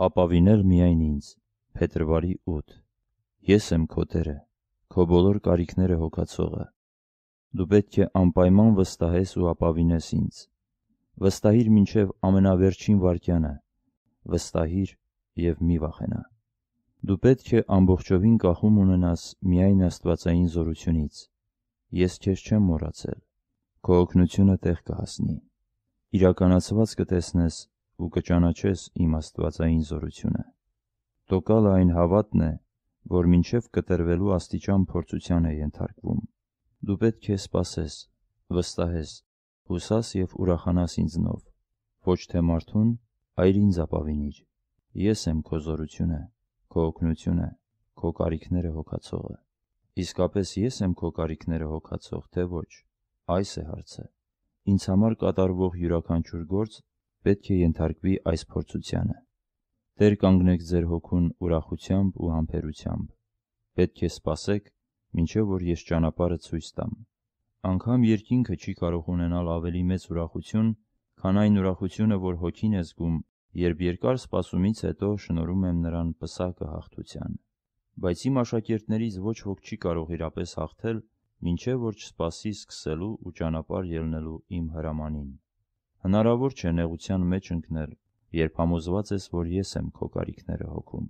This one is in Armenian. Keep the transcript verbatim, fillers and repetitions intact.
Ապավինել միայն ինձ։ Փետրվարի ութ։ Ես եմ քո Տերը, քո բոլոր կարիքները հոգացողը։ Դու պետք է անպայման վստահես ու ապավինես ինձ։ Վստահիր մինչև ամենավերջին վայրկյանը, վստահիր և մի վախենա։ Դու պետք է ամբողջովին կախում ունենաս միայն աստվածային զորությունից։ Ես քեզ չեմ մոռացել, քո օգնությունը տեղ կհասնի։ Իրականացված կտեսնես ու կճանաչես իմ աստվածային զորությունը։ Տոկալը այն հավատն է, որ մինչև կտրվելու աստիճան փորձության է ենթարկվում։ Դու պետք է սպասես, վստահես, հուսաս և ուրախանաս ինձնով, ոչ թե մարդուն, այլ ինձ ապավինիր։ Ես եմ քո զորությունը, քո օգնությունը, քո կարիքները հոգացողը։ Իսկապես ես եմ քո կարիքները հոգացող, թե ոչ, այս է հարցը։ Ինձ համար կատարվող յուրաքանչյուր գործ պետք է ենթարկվի այս փորձությանը։ Տեր կանգնեք ձեր հոգուն ուրախությամբ ու համբերությամբ։ Պետք է սպասեք, մինչև որ ես ճանապարհը ցույց տամ։ Անգամ երկինքը չի կարող ունենալ ավելի մեծ ուրախություն, քան այն ուրախությունը, որ հոգին է զգում, երբ երկար սպասումից հետո շնորհում եմ նրան պսակը հաղթության։ Բայց իմ աշակերտներից ոչ ոք չի կարող իրապես հաղթել, մինչև որ չսպասի սկսելու ու ճանապարհ ելնելու իմ հրամանին։ Հնարավոր չէ նեղության մեջ ընկնել, երբ համոզված ես, որ ես եմ քո կարիքները հոգում։